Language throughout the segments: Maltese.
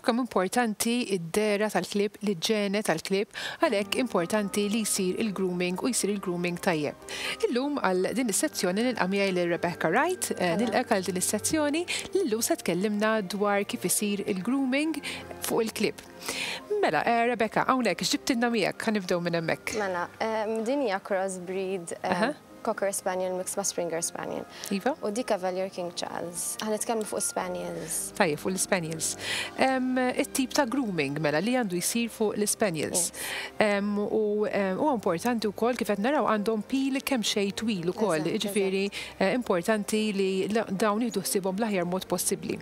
kemm importanti d-dehra tal-klieb, l-iġene tal-klieb, għalhekk importanti li jsir il-grooming u jsir il-grooming tajjeb. Illum għal din is-sezzjoni nilqa' miegħi lil Rebecca Wright, nilqgħek għal din is-sezzjoni li llum se tkellimna dwar kif isir il-grooming fuq il-klieb. Mela, Rebecca, hawnhekk x'ġibtilna miegħek? Ħa nibdew minn hemmhekk. Mela, din hija crossbreed Cocker Spaniel mixed ma' Springer Spaniel. Iva. U di Cavalier King Charles. Ħa nitkellmu fuq Spaniels. Tajjeb, fuq l-Spaniels. It-tip ta' grooming mela li għandu jsir fuq l-Spaniels. U huwa importanti wkoll kif qed naraw għandhom pil kemm xejn twil ukoll, jiġifieri importanti li dawn nieħdu ħsiebhom bl-aħjar mod possibbli.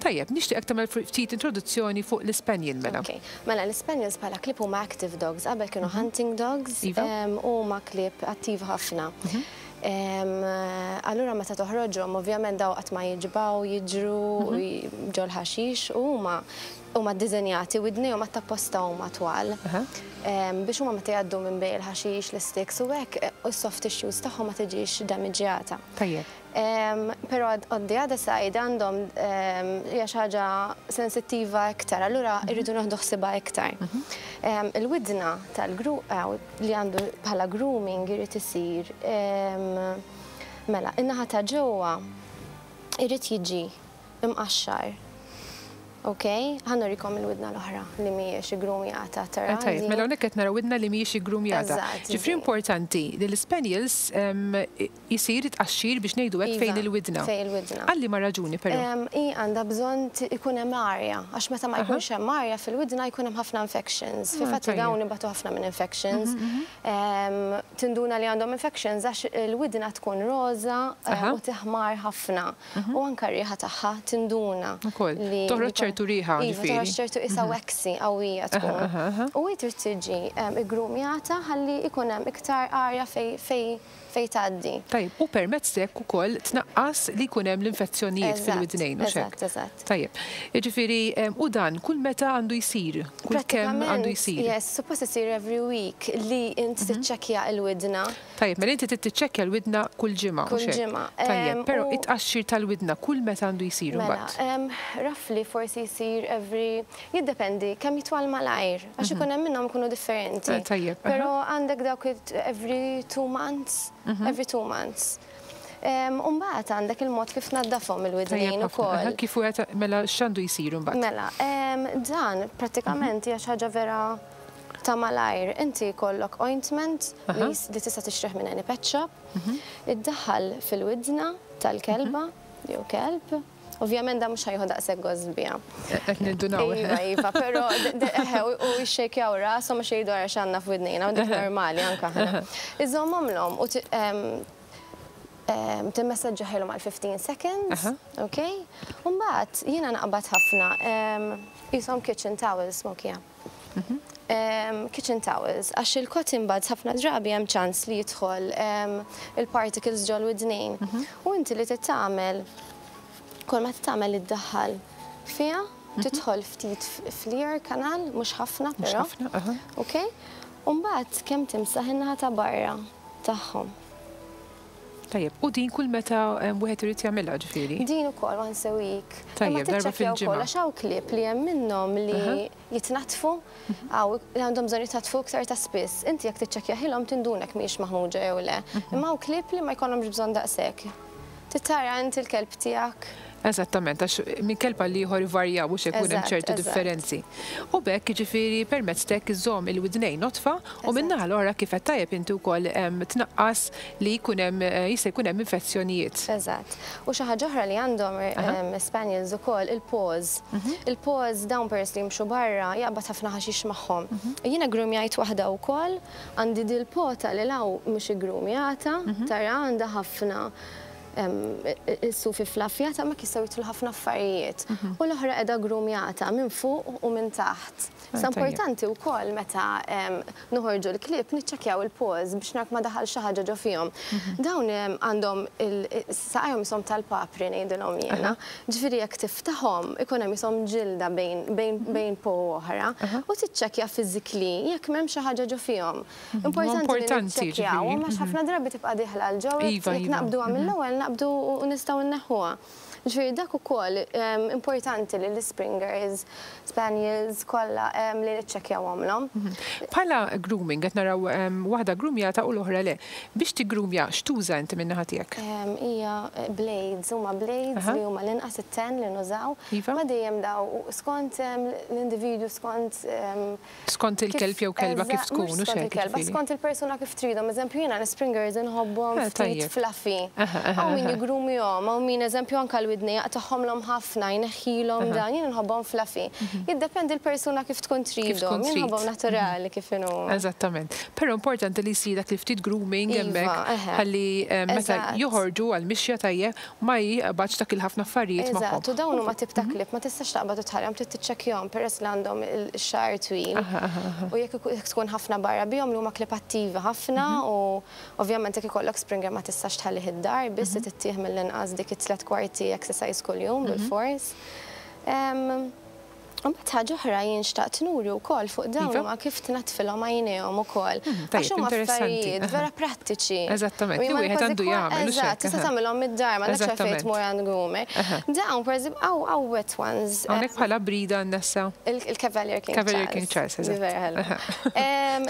Tajjeb, nixtieqek tagħmel ftit introduzzjoni fuq l-Ispaniel mela. Ok. Mela l-Ispaniels bħala klieb huma active dogs, qabel kienu hunting dogs Iva. u huma klieb attiv ħafna. Allura meta toħroġhom ovvjament daw qatt ma jiġbgħu, jiġru ġol-ħaxix u huma huma ddiżenjati widnejhom għat-tapposta huma twal. Biex huma meta jgħaddu minn bejn il-ħaxix, l-isticks u hekk, is-soft tissues tagħhom ma tiġix damiġġjata. Tajjeb. Però on the other side għandhom hija xi ħaġa sensittiva iktar, allura rridu nieħdu ħsiebha iktar. Il-widna tal-gru li għandu bħala grooming irid isir mela, in-naħa ta' ġewwa irid jiġi imqaxxar. Ok, ħa nurikom il-widna l-oħra li mhijiex iggrumjata, tara? Tajjeb, mela hawnhekk qed naraw widna li mhijiex iggrumjata. Eżatt. Ġifieri importanti li l-ispaniels isir it-tqaxxir biex ngħidu hekk fejn il-widna. Iva, fejn il-widna. Għal liema raġuni però? Hi għandha bżonn ikun hemm arja, għax meta ma jkunx hemm arja fil-widna jkun hemm ħafna infections. Fil-fatt dawn ibatu ħafna minn infections. Tinduna li għandhom infections għax il-widna tkun roża u tiħmar ħafna. U anke r-riħa tagħha tinduna. Ukoll. Toħroġ ċertu riħa, ġifieri. Iva, toħroġ ċertu qisha waxy qawwija tkun. U hi trid tiġi iggrumjata ħalli jkun hemm iktar arja fejn tgħaddi. Tajjeb, u permezz t'hekk ukoll tnaqqas li jkun hemm l-infezzjonijiet fil-widnejn, hux hekk? Eżatt, eżatt. Tajjeb. Jiġifieri, u dan kull meta għandu jsir? Kull kemm għandu jsir? Yes, suppost isir every week li int tiċċekkja l-widna. Tajjeb, mela inti trid tiċċekkja l-widna kull ġimgħa, hux Kull hekk? ġimgħa. Tajjeb, però it-tqaxxir tal-widna kull meta għandu jsir Mela, imbagħad? roughly forsi jsir every, jiddependi kemm jitwal malajr, għax ikun hemm minnhom ikunu differenti. Tajjeb, aha. Però għandek dawk every 2 months, every 2 months. U mbagħad għandek il-mod kif tnaddafhom il-widnejn Tajjeb ħafna. ukoll. Aha, kif wieħed, mela x'għandu jsir imbagħad? Mela, dan prattikament hija xi ħaġa vera ta' malajr. Inti jkollok ointment li li tista' tixtrih minn any pet shop, iddaħħal fil-widna tal-kelba jew kelb. Ovvjament dan mhux ħa jieħu daqshekk gost biha. Qed nindunaw. Iva, iva, però eħe, u jxejkjaw rashom għax jgħidu ara x'għandna f'widnejna, u dik normali anke aħna. Iżommhomlhom u timmessaġġaħilhom għal 15 seconds, ok? U mbagħad jiena naqbad ħafna qishom kitchen towels, smokija. Kitchen towels, għax il-cotton buds ħafna drabi hemm ċans li jidħol il-particles ġol-widnejn. U inti li trid tagħmel, kull ma trid tagħmel iddaħħal fiha, tidħol ftit fl-ear canal, mhux ħafna Mhux però. ħafna, aha. Ok? U mbagħad kemm timsaħ in-naħa ta' barra tagħhom. Tajjeb, u din kull meta wieħed irid jagħmilha ġifieri? Din ukoll once a week. Tajjeb, Imma darba tiċċekkja fil-ġimgħa. wkoll għax hawn klieb li hemm minnhom li jitnatfu, hawn li għandhom bżonn jitnatfu iktar ta' spiss. Inti jekk tiċċekkjaħilhom tindunek mhijiex maħmuġa jew le. Imma hawn klieb li ma jkollhomx bżonn daqshekk. Titara inti l-kelb tiegħek. Eżattament, għax minn kelb għal ieħor ivarjaw u x'ikun hemm ċertu differenzi. U b'hekk jiġifieri permezz t'hekk iżżomm il-widnejn notfa u minn naħa l-oħra kif qed tajjeb inti wkoll tnaqqas li jkun hemm jista' jkun hemm infezzjonijiet. Eżatt. U xi ħaġa oħra li għandhom spaniels ukoll il-paws. Il-paws dawn peress li jimxu barra jaqbad ħafna ħaxix magħhom. Jiena groomjajt waħda wkoll, għandi dil-pota li law mhux iggroomjata, tara għandha ħafna is-sufi flaffjata ma jistgħu jidħlu ħafna affarijiet. U l-oħra qiegħda groomjata minn fuq u minn taħt. Sa importanti wkoll meta noħorġu l-klieb niċċekkjaw il-paws biex naraw ma daħal xi ħaġa ġo fihom. Dawn għandhom saqajhom ishom tal-papri ngħidilhom jiena. Ġifieri jekk tiftaħhom ikun hemm ishom ġilda bejn paw oħra u tiċċekkja physically jekk m'hemm xi ħaġa ġo fihom. Importanti li Importanti, niċċekkjaw, ġifieri. għax ħafna drabi tibqa' dieħla 'l ġewwa, Iva, jekk iva. naqbduha mill-ewwel naqbdu u nistgħu nneħħuha. Ġifieri dak ukoll importanti li l-Springers, Spaniels kollha li niċċekkjawhomlhom. Bħala grooming qed naraw waħda groomjata u l-oħra le. Biex tiggroomja x'tuża inti min-naħa tiegħek? Hija blades, huma blades li huma l-inqas it-10 li nużaw. Ma dejjem daw skont l-individwu, skont Skont il-kelb jew kelba kif tkun, hux hekk? Il-kelba, skont il-persuna kif tridhom. Eżempju, jiena l-Springers inħobbhom ftit fluffy. Hawn min jiggroomjahom, hawn min eżempju anke l-widnejn jaqtagħhomlhom ħafna, jneħħilhom dan, jien inħobbhom fluffy. Jiddependi l-persuna kif tkun tridhom, jien inħobbhom naturali kif inhuma. Eżattament. Però importanti li jsir dak il-ftit grooming hemmhekk ħalli meta joħorġu għall-mixja tajjeb ma jqbadx dak il-ħafna affarijiet magħhom. Eżatt, u dawn huma tip ta' klieb ma tistax taqbad u tħallihom, trid tiċċekkjahom peress li għandhom ix-xagħar twil. U jekk tkun ħafna barra bihom li huma klieb attivi ħafna u ovvjament jekk ikollok Springer ma tistax tħallih id-dar biss trid ittih mill-inqas dik it-tliet kwarti exercise kuljum bilfors. U mbagħad ħaġa oħra jien xtaqt nuri wkoll fuq dawn huma kif tnaddfilhom għajnejhom ukoll. Għax huma affarijiet vera prattiċi. Eżattament, li wieħed għandu jagħmel. Eżatt, tista' tagħmilhom mid-dar, m'għandekx għalfejn tmur għand groomer. Dawn pereżempju hawn wet ones. Hawnhekk bħala brida għandna Il-Cavalier King Charles. Cavalier King Charles, eżatt. Vera ħelwa.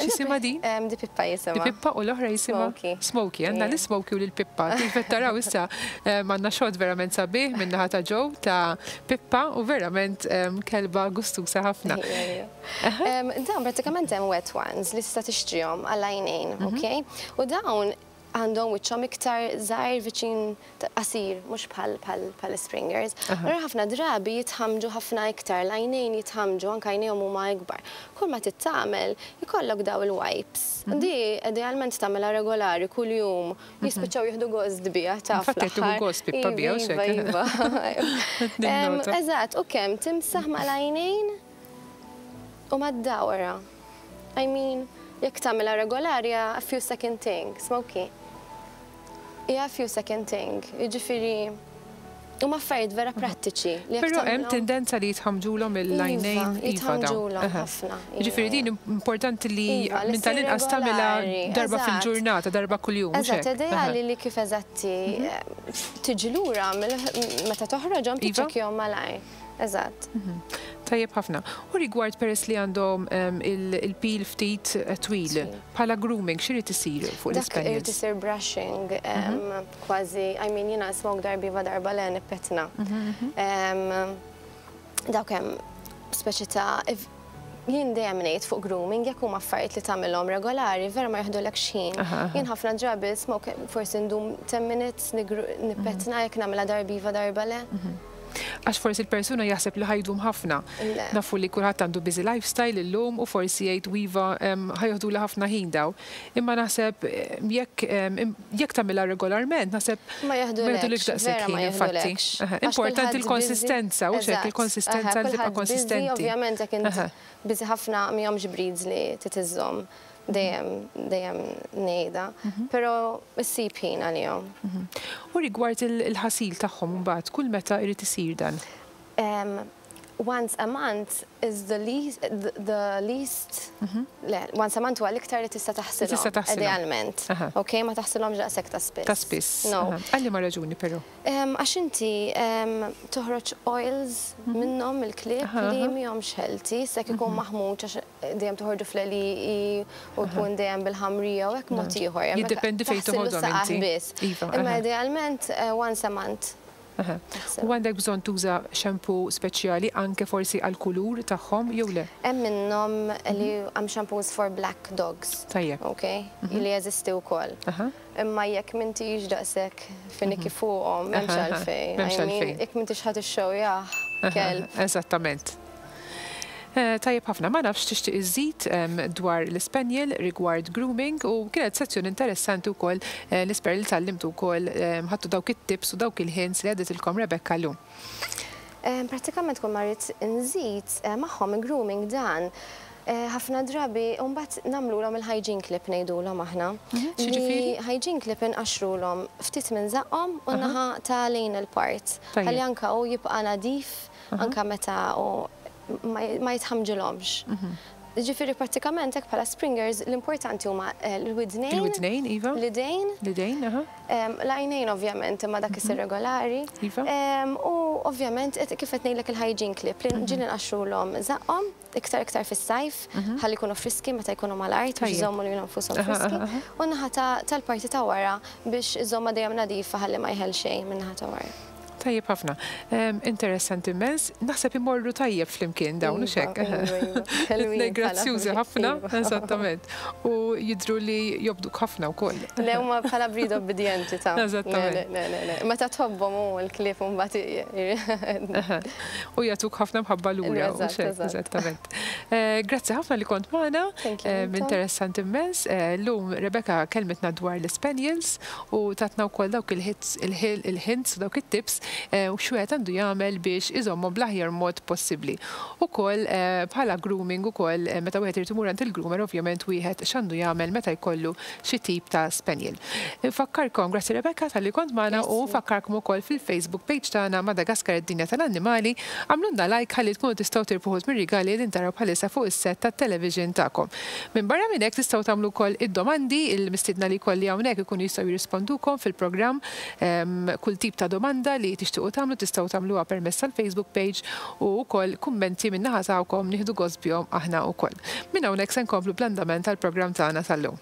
X'jisimha din? Di Pippa jisimha. Di Pippa u l-oħra jisimha? Smokey. Smokey, għandna l-Smokey u lil-Pippa. Kif qed taraw issa għandna shot verament sabiħ min-naħa ta' Joe ta' Pippa u verament kelba gustusa ħafna. Dawn pratikament hemm wet ones li tista' tixtrihom għall-għajnejn, ok? U dawn għandhom wiċċhom iktar żgħir viċin qasir, mhux bħal Springers. Allura ħafna drabi jitħammġu ħafna iktar, l-għajnejn jitħammġu, anke għajnejhom huma ikbar. Kull ma trid tagħmel, ikollok daw il-wipes. Di idealment tagħmilha regolari kuljum, jispiċċaw jieħdu gost biha taf. Infatti qed tieħu gost Pippa biha u x'hekk. Iva, iva. Eżatt, u kemm timsaħ mal-għajnejn u mad-dawra. I mean, jekk tagħmilha regolari a few second thing, Smokey. Hija a few second thing, jiġifieri huma affarijiet vera prattiċi. Però hemm tendenza li jitħammġulhom il-għajnejn. Iva, jitħammġulhom ħafna. Jiġifieri din importanti li minn tal-inqas tagħmilha darba fil-ġurnata, darba kuljum. Eżatt, ideali li kif eżatti tiġi lura meta toħroġhom tiċċekkjahom malajr. Eżatt. Tajjeb ħafna. U rigward peress li għandhom il-pil ftit twil, bħala grooming, x'irid isir fuq l-ispaniels? Dak irid isir brushing, kważi, I mean jiena Smoke darba iva darba le nippetna. Dawk hemm speċi ta' jien dejjem ngħid fuq grooming jekk huma affarijiet li tagħmilhom regolari vera ma joħdulekx ħin. Jien ħafna drabi Smoke forsi ndum 10 minutes nippetna jekk nagħmilha darba iva darba le. Għax forsi l-persuna jaħseb li ħa jdum ħafna. Nafu li kulħadd għandu busy lifestyle illum u forsi jgħid iva ħa joħduli ħafna ħin daw. Imma naħseb jekk tagħmilha regolarment, naħseb ma joħdulekx daqshekk ħin infatti. Importanti l-konsistenza, u xek il-konsistenza li tibqa' konsistenti. Ovvjament jekk int busy ħafna mihomx breeds li titiżhom dejjem dejjem ngħidha, però issib ħin għalihom. U rigward il-ħasil tagħhom mbagħad, kull meta irid isir dan? Once a month is the least, the least, le, once a month huwa l-iktar li tista' taħsilhom. Tista' taħsilhom. Idealment. Ok, ma taħsilhomx daqshekk ta' spiss. Ta' spiss. No. Għal liema raġuni però? Għax inti toħroġ oils minnhom il-klieb li mihomx healthy, sekk ikun maħmuġ għax dejjem toħorġu fl-għelieqi u jkun dejjem bil-ħamrija u hekk mod ieħor. Jiddependi fejn toħodhom inti. Iva. Imma idealment once a month. U għandek bżonn tuża shampoo speċjali anke forsi għal kulur tagħhom jew le? Hemm minnhom li hemm shampoos for black dogs. Tajjeb. Ok, li jeżisti wkoll. Imma jekk m'intix daqshekk finicky fuqhom, m'hemmx għalfejn. M'hemmx għalfejn. Jekk m'intix ħadd ixxewjah kelb. Eżattament. Tajjeb ħafna, ma nafx tixtieq iżid dwar l-Spaniel rigward grooming u kienet sezzjoni interessanti wkoll nispera li tgħallimtu wkoll ħadtu dawk it-tips u dawk il-hints li għadditilkom Rebecca llum. Pratikament kull ma rrid nżid magħhom grooming dan ħafna drabi mbagħad nagħmlulhom il-hygiene clip ngħidulhom aħna. X'jiġifieri? Hygiene clip inqaxrulhom ftit minn żaqqhom u naħa ta' lejn il-part. Ħalli anka hu jibqa' nadif anka meta u ma jitħamġilhomx. Ġifieri prattikament hekk bħala springers l-importanti huma l-widnejn. Il-widnejn, iva. L-idejn. L-idejn, aha. L-għajnejn ovvjament imma dak isir regolari. Iva. U ovvjament kif qed ngħidlek il-hygiene clip li ġieli nqaxxrulhom żaqqhom iktar iktar fis-sajf ħalli jkunu friski meta jkunu mal-art biex iżommu lilhom infushom friski. U n-naħa tal-parti ta' wara biex iżommha dejjem nadifa ħalli ma jħell xejn min-naħa ta' wara. Tajjeb ħafna. Interessanti immens. Naħseb imorru tajjeb flimkien dawn, hux hekk? Iva, iva. Grazzjużi ħafna, eżattament. U jidhru li jobduk ħafna wkoll. Le huma bħala breed obbedjenti ta'. Eżattament. Le, le, le. Meta tħobbhom u l-klieb mbagħad. U jagħtuk ħafna mħabba lura. Eżattament. Grazzi ħafna li kont magħna. Interessanti immens. Llum Rebecca kellmitna dwar l-Spaniels u tatna wkoll dawk il-hits, il-hints u dawk it-tips u x'wieħed għandu jagħmel biex iżommhom bl-aħjar mod possibbli. Ukoll bħala grooming ukoll meta wieħed irid imur għand il-groomer ovvjament wieħed x'għandu jagħmel meta jkollu xi tip ta' spaniel. Infakkarkom, grazzi Rebecca talli kont magħna u nfakkarkom ukoll fil-Facebook page tagħna Madagascar id-Dinja tal-Annimali, agħmlulna like ħalli tkunu tistgħu tirbħu wħud mir-rigali li qegħdin taraw bħalissa fuq is-set tat-television tagħkom. Minbarra minn hekk tistgħu tagħmlu wkoll id-domandi, il-mistiedna li jkolli hawnhekk ikunu jistgħu jirrispondukom fil-programm. Kull tip ta' domanda li tixtiequ tagħmlu tistgħu tagħmluha permezz tal-Facebook page u wkoll kummenti min-naħa tagħkom nieħdu gost bihom aħna wkoll. Minn hawnhekk se nkomplu bl-andament tal-programm tagħna tal-lum.